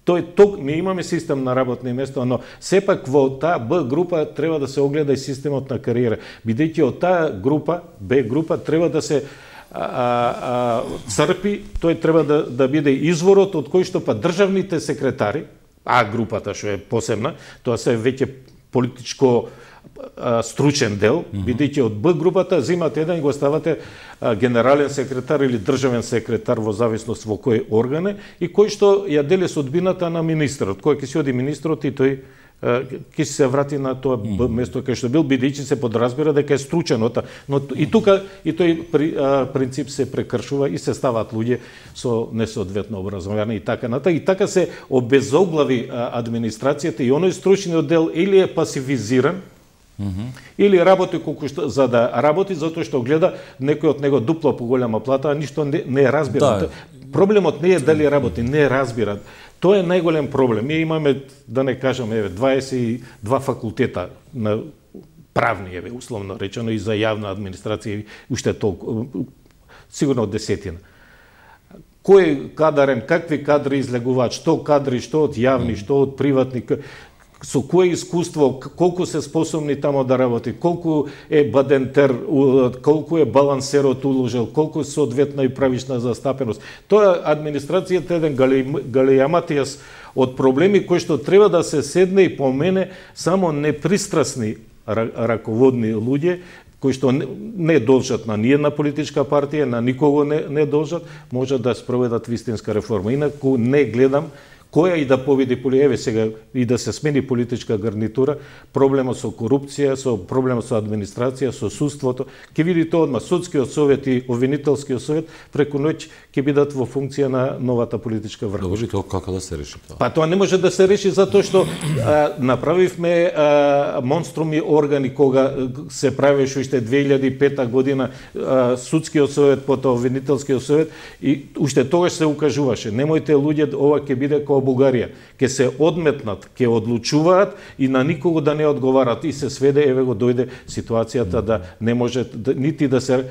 Speaker 2: Тој ток ние имаме систем на работни места, но сепак во таа Б група треба да се огледа и системот на кариера, бидејќи од таа група, Б група, треба да се А, а, црпи, тој треба да, да биде изворот од кој што па државните секретари, А групата што е посебна, тоа се веќе политичко а, стручен дел, mm -hmm. бидејќи од Б групата земате еден и го ставате а, генерален секретар или државен секретар во зависност во кој орган е и кој што ја дели судбината на министрот, кој ќе си оди министрот и тој ќе се врати на тоа Б место кај што бил, бидејќи се подразбира дека е стручен, но и тука и тој при, а, принцип се прекршува и се ставаат луѓе со несоодветно образование и така натаму. И така се обезоглави а, администрацијата и оној стручниот дел или е пасивизиран, mm -hmm. или работи колку што за да работи затоа што гледа некој од него дупло поголема плата, а ништо не, не разбира. Да. Проблемот не е дали работи, не разбира. Тоа е најголем проблем. Ние имаме, да не кажам, еве, дваесет и два факултета на правни, еве, условно речено, и за јавна администрација, и уште толку, сигурно десетина. Кој кадарен, какви кадри излегуваат, што кадри, што од јавни, што од приватни, со кое искуство, колку се способни тамо да работи, колку е бадентер, колку е балансерот уложил, колку соодветна и правична застапеност. Тоа администрацијата е еден галејаматијас од проблеми кои што треба да се седне и помене само непристрасни раководни луѓе, кои што не, не должат на ниедна политичка партија, на никого не, не должат, можат да спроведат вистинска реформа. Инаку не гледам која и да победи, еве сега и да се смени политичка гарнитура, проблемот со корупција, со проблемот со администрација, со судството, ќе видите одма судскиот совет и обвинителскиот совет преку ноќ ќе бидат во функција на новата политичка врховност.
Speaker 1: Добро, тоа како да се реши тоа?
Speaker 2: Па тоа не може да се реши затоа што а, направивме а, монструми органи кога се правеше уште две илјади и пета година а, судскиот совет, потоа обвинителскиот совет и уште тогаш се укажуваше немојте луѓе, ова ќе биде како Бугарија, ќе се одметнат, ќе одлучуваат и на никого да не одговарат и се сведе, еве го дојде ситуацијата да не може да, нити да се.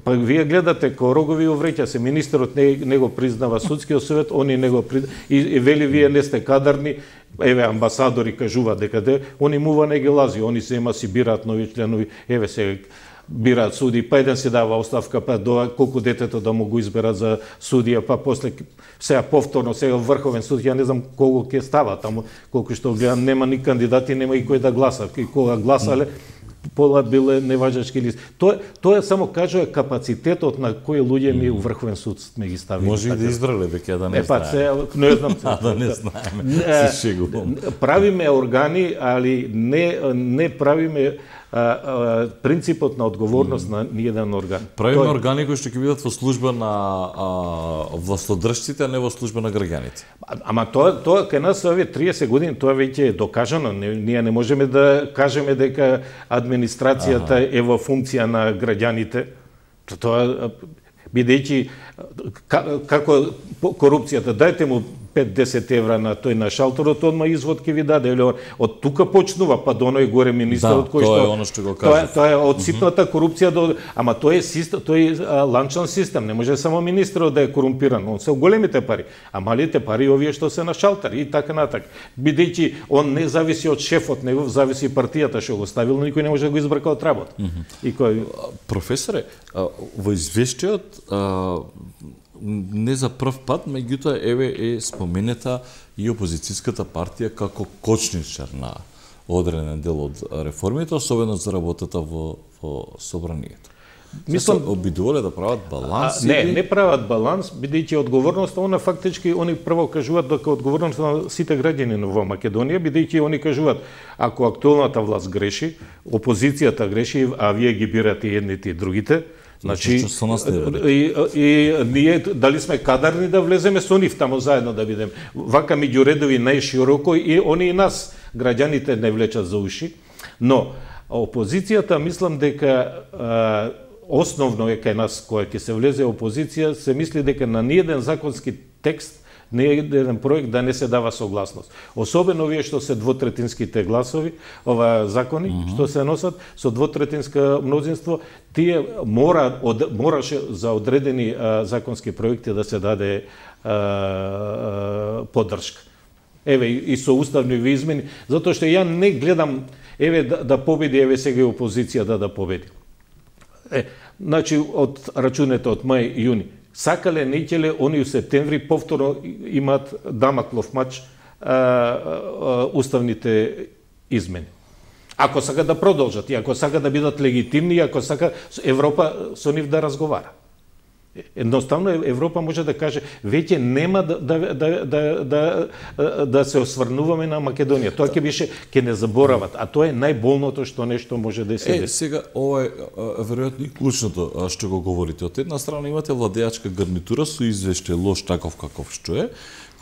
Speaker 2: Па вие гледате ко рогови увреќа се, министерот не, не го признава судскиот совет, они не го признава и, и вели вие не сте кадарни, еве амбасадори кажуваат дека де, они мува не ги лази, они се има си бираат нови членови, еве се бираат суди, па еден си дава оставка, па до колку детето да му го изберат за судија, па после сега повторно сега врховен суд, ја не знам колку ќе става таму, колку што гледам нема ни кандидати, нема и кој да гласа, и кога гласале пола биле неважачки лист. Тоа тоа само кажува капацитетот на кои луѓе ми у врховен суд сме ги ставили.
Speaker 1: Може и да избрале веќе да не
Speaker 2: е, па, се, не знам се.
Speaker 1: да не знаеме. Се шегувам.
Speaker 2: Правиме органи, али не не правиме а, а, принципот на одговорност mm. на ниеден орган.
Speaker 1: Правиме Тој... органи кои што ќе бидат во служба на а, властодржците, а не во служба на граѓаните.
Speaker 2: А, ама тоа тоа кај нас овие триесет години тоа веќе е докажано. Не, ние не можеме да кажеме дека администрацијата ага. е во функција на граѓаните. Тоа бидејќи како корупцијата, дајте му пет-десет евра на тој на шалтерот, одма извод ќе ви даде. Од тука почнува, па до оној горе министерот
Speaker 1: да,
Speaker 2: кој што...
Speaker 1: тоа е оно што го кажа.
Speaker 2: Тоа, тоа е од ситната корупција до... Ама тој е систем, тој е ланчан систем, не може само министерот да е корумпиран, он се големите пари, а малите пари овие што се на шалтер и така натак. Бидејќи он не зависи од шефот, него зависи партијата што го ставил, но никој не може да го избрака од работа. Mm -hmm. И кој...
Speaker 1: Професоре, во извештајот не за прв пат, меѓутоа еве е споменета и опозицијската партија како кочничар на одреден дел од реформите, особено за работата во, во собранието. Мислам, обидувале да прават баланс?
Speaker 2: А, не, или... не прават баланс, бидејќи одговорноста, она фактички, они прво кажуваат дека одговорноста на сите граѓани во Македонија, бидејќи они кажуваат, ако актуелната власт греши, опозицијата греши, а вие ги бирате едните и другите, значи, и, и ние дали сме кадарни да влеземе со нив таму заедно да бидеме. Вака меѓу редови најшироко и они и нас, граѓаните, не влечат за уши. Но опозицијата, мислам дека а, основно е кај нас која ќе се влезе опозиција, се мисли дека на ниеден законски текст не е еден проект да не се дава согласност. Особено овие што се двотретинските гласови, ова закони, mm -hmm. што се носат со двотретинска мнозинство, тие мора, од, мораше за одредени а, законски проекти да се даде а, а, поддршка. Еве, и со уставни измени, затоа што ја не гледам, еве, да, да победи, еве сега опозиција да да победи. Е, значи, од рачунете од мај и јуни, сакале, не ќеле, они у септември повторно имаат дамаклов мач а, а, уставните измени. Ако сака да продолжат, и ако сака да бидат легитимни, и ако сака Европа со нив да разговара. Едноставно Европа може да каже веќе нема да да да да да, да се осврнуваме на Македонија. Тоа ќе беше ќе не заборават, а тоа е најболното што нешто може да се деси.
Speaker 1: Е, сега ова е веројатно и клучното што го говорите. Од една страна имате владеачка гарнитура со извештај лош таков каков што е,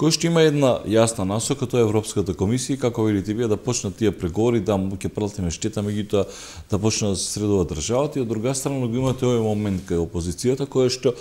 Speaker 1: кој што има една јасна насока, тоа е Европската комисија, како велите вие да почнат тие преговори, да ќе пратиме штета меѓутоа да почне да се средува државата, и од друга страна го имате овој момент кај опозицијата која што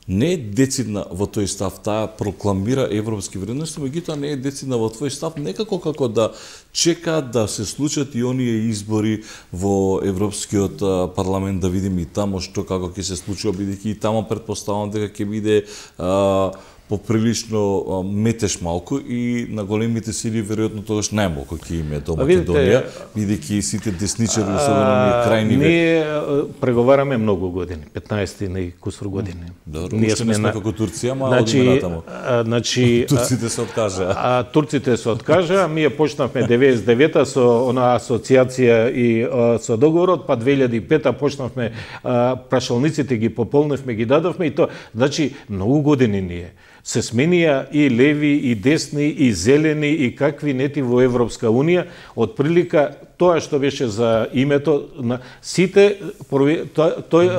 Speaker 1: не е децидна во тој став, таа прокламира европски вредности, меѓутоа не е децидна во тој став, некако како да чекаат да се случат и оние избори во Европскиот парламент, да видиме и тамо што како ќе се случува, бидејќи и тамо претпоставувам дека ќе биде а, поприлично метеш малку и на големите сили веројатно тогаш најмалку ќе име до Македонија, бидејќи сите десничари, особено ние крајни...
Speaker 2: Ние преговараме многу години, петнаесет и кусур години.
Speaker 1: Добро, ние сме на... како Турција, ама значи, одиме натаму.
Speaker 2: Значи,
Speaker 1: турците се откажаа.
Speaker 2: А, турците се откажаа, ние почнавме деветдесет и девета со она асоциација и а, со договорот, па две илјади и пета почнавме, а, прашалниците ги пополневме, ги дадовме и тоа. Значи, многу години ние. се сменија и леви, и десни, и зелени, и какви нети во Европска Унија, од прилика тоа што беше за името на сите, тој, тој,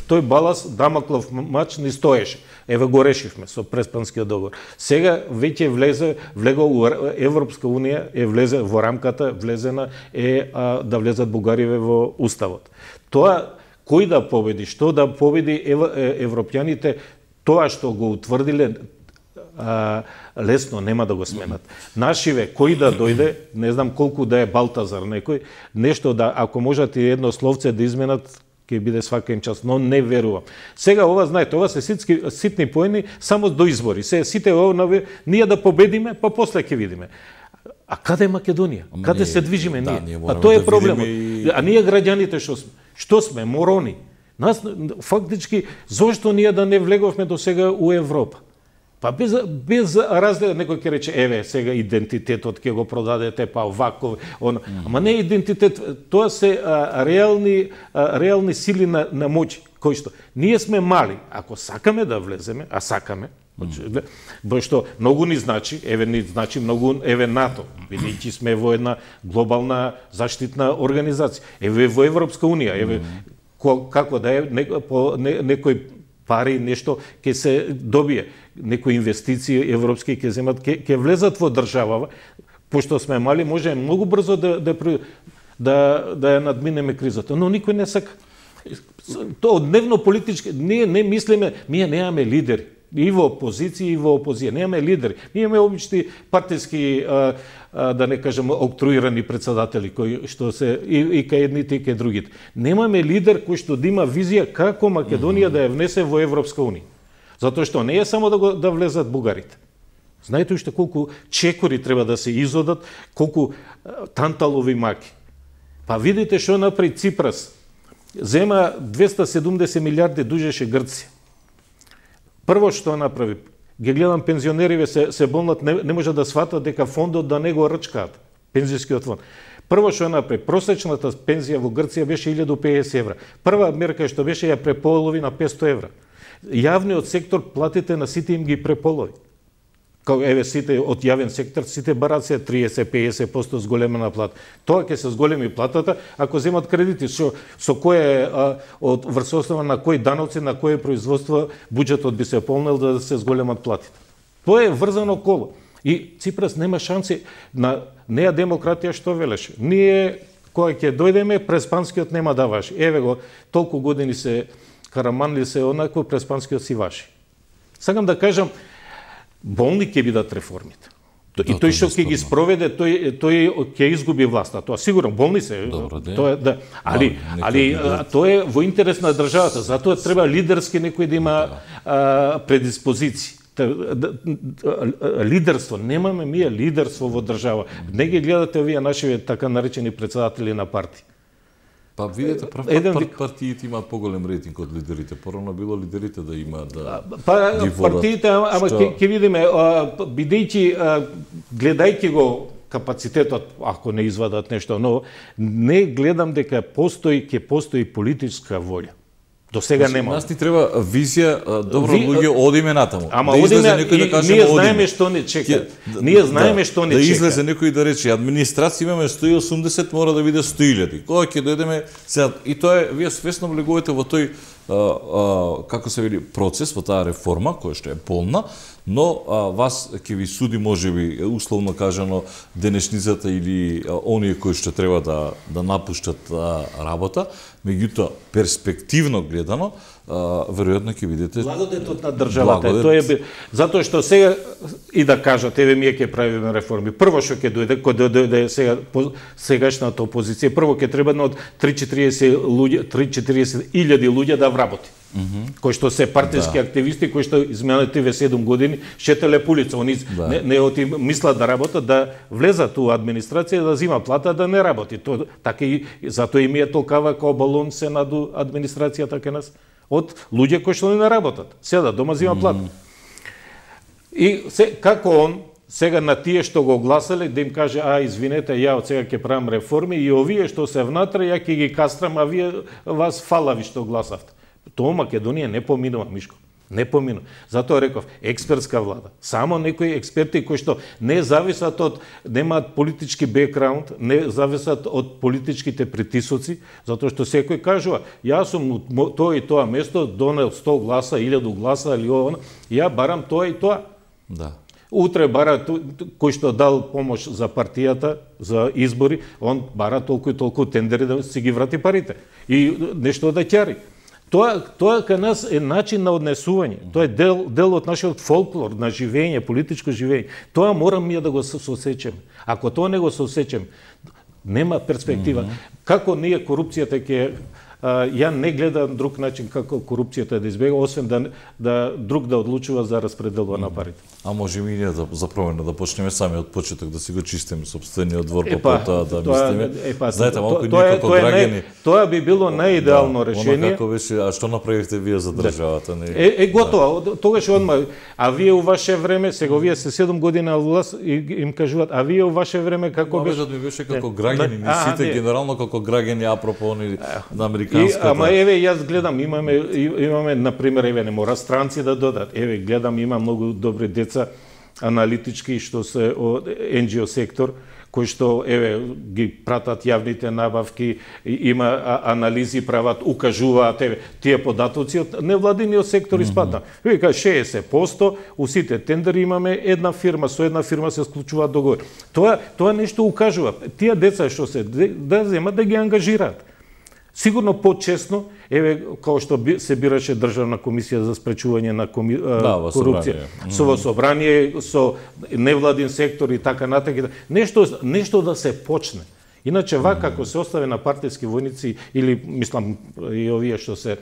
Speaker 2: тој балас, Дамоклов мач ни стоеше. Еве го решивме со Преспанскиот договор. Сега веќе влезе, влего у Европска Унија, е влезе во рамката, влезена е а, да влезат Бугариве во Уставот. Тоа, кој да победи, што да победи ев, европјаните, тоа што го утврдиле, а, лесно нема да го сменат. Нашиве, кој да дојде, не знам колку да е Балтазар некој, нешто да, ако можат и едно словце да изменат, ќе биде свака им час, но не верувам. Сега ова, знаете, ова се ситски, ситни поени само до избори. Се сите ова, ние да победиме, па после ќе видиме. А каде е Македонија? Ама каде ние, се движиме да, ние? ние а тоа е да проблемот. И... А ние граѓаните што сме? Што сме? Морони. Нас, фактички, зошто ние да не влеговме до сега у Европа? Па без, без разлика, некој ќе рече, еве, сега идентитетот ќе го продадете, па овако, он... Mm. Ама не идентитет, тоа се а, реални, а, реални сили на, на моќ, кои што ние сме мали, ако сакаме да влеземе, а сакаме, mm. бо што многу ни значи, еве ни значи многу, еве НАТО, бидејќи сме во една глобална заштитна организација, еве во Европска Унија, еве mm. ко, како да е, не, по не, некој пари, нешто ќе се добие, некои инвестиции европски ќе земат, ќе, ќе влезат во државава, пошто сме мали, може многу брзо да да да, да ја надминеме кризата, но никој не сака. Тоа дневно политички, ние не мислиме, ние немаме лидери. И во опозиција, и во опозиција. Немаме лидери. Ние имаме обични партиски, а, а, да не кажем, октруирани председатели, кои што се и, и кај едните, и кај другите. Немаме лидер кој што да има визија како Македонија mm-hmm. да ја внесе во Европска Унија. Затоа што не е само да, го, да влезат бугарите. Знаете уште колку чекори треба да се изодат, колку а, танталови маки. Па видите што направи Ципрас. Зема двеста седумдесет милиарди дужеше Грција. Прво што направи, ги гледам пензионериве се, се болнат, не, не може да сватат дека фондот да не го рчкаат, пензијскиот фонд. Прво што направи, просечната пензија во Грција беше илјаду и педесет евра. Прва мерка што беше ја преполови на петстотини евра. Јавниот сектор платите на сите им ги преполови. Као еве сите од јавен сектор, сите барат се триесет до педесет проценти зголемена плата. Тоа ќе се зголеми платата ако земат кредити, со со кое а, од врз основа на кои даноци, на кое производство буџетот би се полнел да се зголемат платите. Тоа е врзано коло. И Ципрас нема шанси на неа демократија што велеше. Ние кога ќе дојдеме, Преспанскиот нема да важи. Еве го, толку години се Караманли се однакво, Преспанскиот си важи. Сакам да кажам, болни ќе бидат реформите. И да, тој што ќе ги спроведе, тој тој ќе изгуби власта. Тоа сигурно болни се. Добро, тоа е да, али али тоа е во интерес на државата. Затоа треба лидерски некој да има да. а, предиспозиции. Лидерство, немаме ние лидерство во држава. Не ги гледате овие наши така наречени председатели на партии.
Speaker 1: Па видете, прав пат Еден... партиите имаат поголем рейтинг од лидерите. Порано било лидерите да има да
Speaker 2: па партиите, ама ќе ќе видиме, бидејќи гледајќи го капацитетот, ако не извадат нешто ново, не гледам дека постои ќе постои политичка волја. До сега нема.
Speaker 1: Нас ни треба визија, добро Ви... луѓе, одиме натаму.
Speaker 2: Ама да одиме, некој да каже, ние знаеме што не чека. Ние знаеме да, што не
Speaker 1: да
Speaker 2: чека.
Speaker 1: Да излезе некој да рече, администрација имаме сто и осумдесет, мора да биде сто илјади. Кога ќе дојдеме сега, и тоа е, вие свесно влегувате во тој а, а, како се вели процес, во таа реформа која што е полна, но а, вас ќе ви суди можеби условно кажано денешницата или а, оние кои што треба да да напуштат а, работа, меѓутоа перспективно гледано, а, веројатно ќе видите
Speaker 2: благодетот на државата. Благодет... Тоа е затоа што сега и да кажат еве ние ќе правиме реформи. Прво што ќе дојде, кога дојде сега сегашната опозиција, прво ќе треба од три-четириесет луѓе, три-четириесет илјади луѓе да вработи. Mm-hmm. Кои што се партиски да. активисти, кои што изминативе седум години шетеле пулица, они да. не, не оти мислат да работат, да влезат у администрација, да зима плата, да не работи. То така и затоа и ми е толкава као балон се наду администрацијата кај нас од луѓе кои што не работат. Седа дома зима плата. Mm-hmm. И се, како он сега на тие што го гласале да им каже а извинете, ја од сега ќе правам реформи и овие што се внатре ја ќе ги кастрам, а вие вас фалави што гласавте. Тоа Македонија не поминува, Мишко. Не помина. Затоа реков, експертска влада. Само некои експерти кои што не зависат од, немаат политички бекграунд, не зависат од политичките притисоци, затоа што секој кажува, јас сум тоа и тоа место донел сто гласа, илјаду гласа или ова, ја барам тоа и тоа.
Speaker 1: Да.
Speaker 2: Утре бара кој што дал помош за партијата, за избори, он бара толку и толку тендери да си ги врати парите и нешто да ќари. Тоа, тоа кај нас е начин на однесување. Тоа е дел, дел од нашиот фолклор, на живење, политичко живење. Тоа морам ние да го сосечеме. Ако тоа не го сосечеме, нема перспектива. Mm -hmm. Како ние корупцијата ќе... Ја не гледам друг начин како корупцијата да избега, освен да, да друг да одлучува за распределува на парите.
Speaker 1: А може и ние да, за промена да почнеме сами од почеток да си го чистиме собствениот двор, па потоа да мислиме.
Speaker 2: Епа,
Speaker 1: знаете, малку ние
Speaker 2: тоа,
Speaker 1: како
Speaker 2: тоа
Speaker 1: граѓани...
Speaker 2: Не, тоа би било најидеално
Speaker 1: да,
Speaker 2: решение.
Speaker 1: Како беше, а што направивте вие за државата? Не?
Speaker 2: Е, е готово, да. Тогаш одма. А вие у ваше време, сега вие се седум години на власт и им кажуваат, а вие у ваше време како беше?
Speaker 1: Мабежот ми беше како граѓани, не сите генерално како граѓани, апропо они на американската.
Speaker 2: Ама еве јас гледам, имаме имаме на пример, еве не мора странци да додат. Еве гледам, има многу добри деца аналитички што се од ен џи о сектор, кои што еве ги пратат јавните набавки, има анализи прават, укажуваат еве тие податоци од невладиниот сектор испадна. Вика шеесет проценти у сите тендери имаме една фирма, со една фирма се склучуваат договори. Тоа тоа нешто укажува. Тие деца што се да земат да ги ангажираат. Сигурно почесно, еве како што се бираше државна комисија за спречување на коми... да, корупција, со во собрание, со невладин сектор и така натаму, нешто нешто да се почне. Иначе вака ако се остави на партиски војници или мислам и овие што се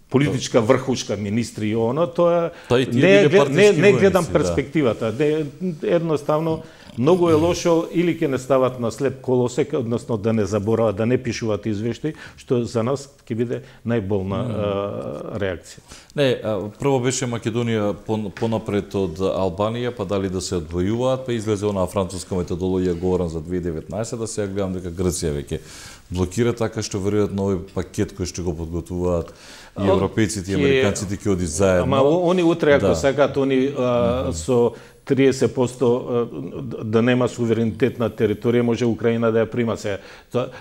Speaker 2: политичка врхушка министри и оно, тоа не, не, не гледам војници, перспективата. Да. Не, едноставно многу е лошо или ќе не стават на слеп колосек, односно да не заборават, да не пишуваат извештаи, што за нас ќе биде најболна mm. а, реакција.
Speaker 1: Не, прво беше Македонија понапред од Албанија, па дали да се одвојуваат, па излезе онаа француска методологија говорам за две илјади и деветнаесета, да се ја гледам дека Грција веќе блокира, така што веројатно нови пакет кој што го подготвуваат и европејците и американците ќе оди заедно.
Speaker 2: Ама они утре ако да. сакаат они а, со триесет проценти да нема суверенитет на територија, може Украина да ја прима се.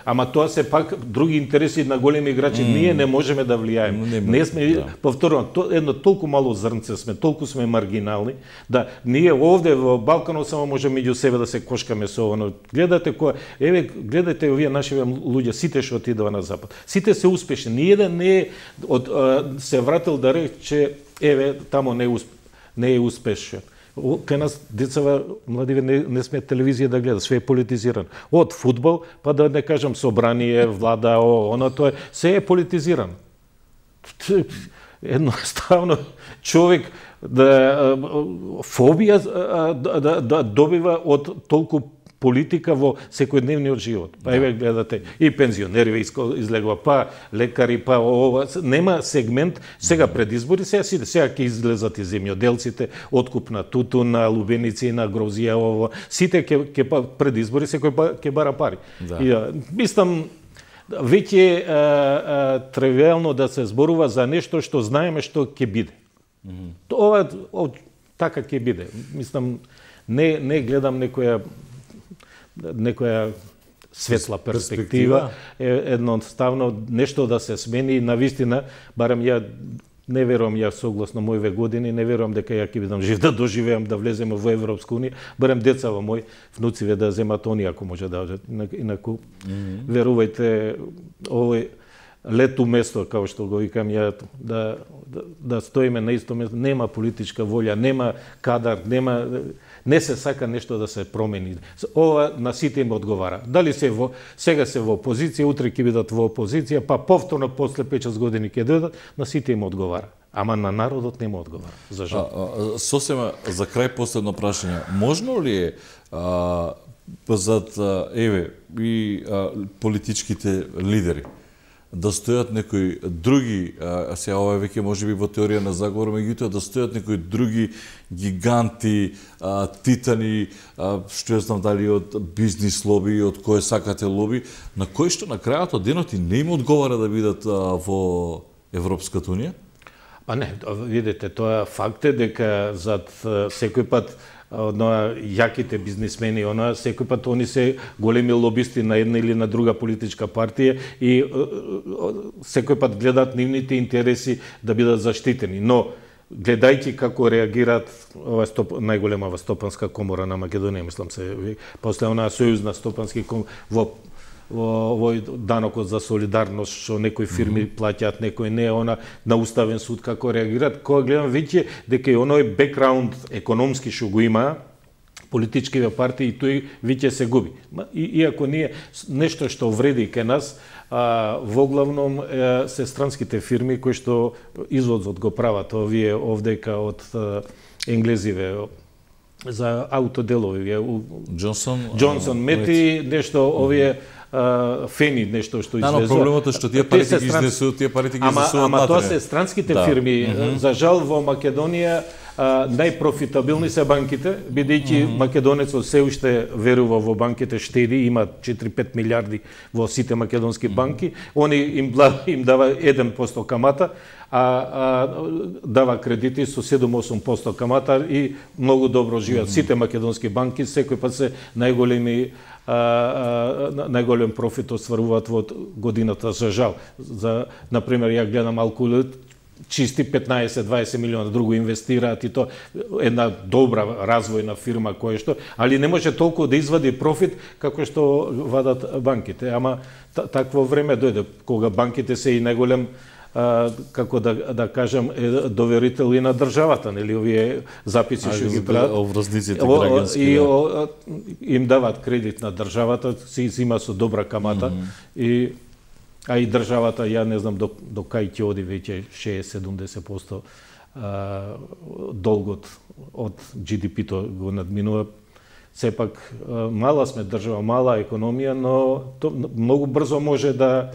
Speaker 2: Ама тоа се пак други интереси на големи играчи. Mm. Ние не можеме да влијаеме. Не, не сме, да. повторувам, то, едно толку мало зрнце сме, толку сме маргинални, да ние овде во Балканот само можеме меѓу себе да се кошкаме со оно. Гледате која, еве гледате овие наши луѓе, сите што отидува на запад. Сите се успешни. Ниеден не е од се вратил да рече еве тамо не усп... не е успешен. Кај нас децава, младиве, не, не сме телевизија да гледа, све е политизирано. Од фудбал, па да не кажам собрание, влада, о, оно тоа, се е политизирано. Едноставно, човек да фобија да, да, да добива од толку политика во секојдневниот живот. Па еве гледате и пензионери излегува, па лекари, па ова, нема сегмент сега пред избори, сега сите, сега ќе излезат и земјоделците, откуп на тутун, на лубеници, на грозија, ова, сите ќе ќе па пред избори секој па ќе бара пари. Да. И мислам веќе тривијално да се зборува за нешто што знаеме што ќе биде. Mm -hmm. Ова о, така ќе биде. Мислам не не гледам некоја некоја светла перспектива, е едноставно нешто да се смени и навистина, барем ја не верувам, ја согласно моите години, не верувам дека ја ќе бидам жив да доживеам да влеземе во Европска унија, барем децава мои, внуциве да земат они ако може да одат. Инаку, mm -hmm. верувајте, овој лету место, како што го викам ја, да, да, да стоиме на исто место, нема политичка волја, нема кадар, нема... Не се сака нешто да се промени. Ова на сите им одговара. Дали се во, сега се во опозиција, утре ќе бидат во опозиција, па повторно после пет-шест години ќе дојдат, на сите им одговара. Ама на народот нема одговара. За жал.
Speaker 1: А, а, сосема за крај последно прашање. Можно ли е а, зад еве и а, политичките лидери да стојат некои други, а сега ова веќе можеби во теорија на заговор, меѓутоа да стојат некои други гиганти, а, титани, а, што ја знам дали од бизнис лоби, од кое сакате лоби, на кои што на крајот од денот и не им одговара да бидат а, во Европската унија?
Speaker 2: Па не, видите, тоа факт е дека зад секој пат одноа јаките бизнисмени, она секој пат они се големи лобисти на една или на друга политичка партија и секој пат гледаат нивните интереси да бидат заштитени. Но гледајќи како реагираат ова стоп, најголемава стопанска комора на Македонија, мислам се, после онаа сојузна стопански комора во овој данокот за солидарност што некои фирми mm -hmm. плаќаат, некои не, она на уставен суд како реагираат, кога гледам веќе дека и оној бекграунд економски што го има политичките партии, тој веќе се губи. И, иако ние нешто што вреди кај нас, а, воглавном е, се странските фирми кои што извозот го прават овие овдека од енглезиве за аутоделови.
Speaker 1: Джонсон,
Speaker 2: Джонсон мети нешто овие Uh, фени нешто што излезува.
Speaker 1: Да, но проблемот е што тие парите ги изнесуваат, тие парите ги изнесуваат.
Speaker 2: Ама, ама тоа се странските да. фирми. Mm -hmm. За жал во Македонија uh, најпрофитабилни се банките, бидејќи mm -hmm. македонецот се уште верува во банките, штеди, има четири-пет милиарди во сите македонски mm -hmm. банки. Они им, им дава еден процент камата, а, а дава кредити со седум-осум проценти камата и многу добро живеат. Mm -hmm. Сите македонски банки секој пат се најголеми А, а, најголем профит остваруваат во годината, за жал. За, например, ја гледам Алкулит, чисти петнаесет-дваесет милиона, друго инвестираат и то една добра развојна фирма која што, али не може толку да извади профит како што вадат банките. Ама такво време дојде кога банките се и најголем А, како да, да кажам, е доверител и на државата, нели, овие записи што ги прават.
Speaker 1: Обврзниците граѓански.
Speaker 2: И о, им дават кредит на државата, се зима со добра камата, mm -hmm. и, а и државата, ја не знам до, до кај ќе оди веќе шеесет-седумдесет проценти а, долгот од Джи Ди Пи-то го надминува. Сепак, мала сме држава, мала економија, но то многу брзо може да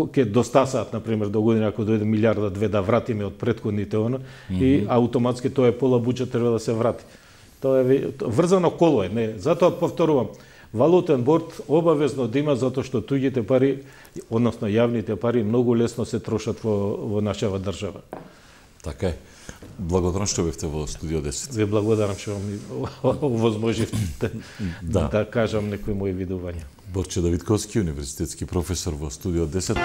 Speaker 2: ќе достасаат, например, до година ако дојде милиарда две да вратиме од претходните она, mm -hmm. и автоматски тоа е пола буџет треба да се врати. Тоа е врзано коло е, не. Затоа повторувам, валутен борд обавезно да има, затоа што туѓите пари, односно јавните пари, многу лесно се трошат во, во нашава држава.
Speaker 1: Така е. Благодарам што бевте во Студио десет.
Speaker 2: Ви благодарам што ми овозможивте да. да кажам некои мои видувања.
Speaker 1: Борче Давидковски, универзитетски професор во Студио десет.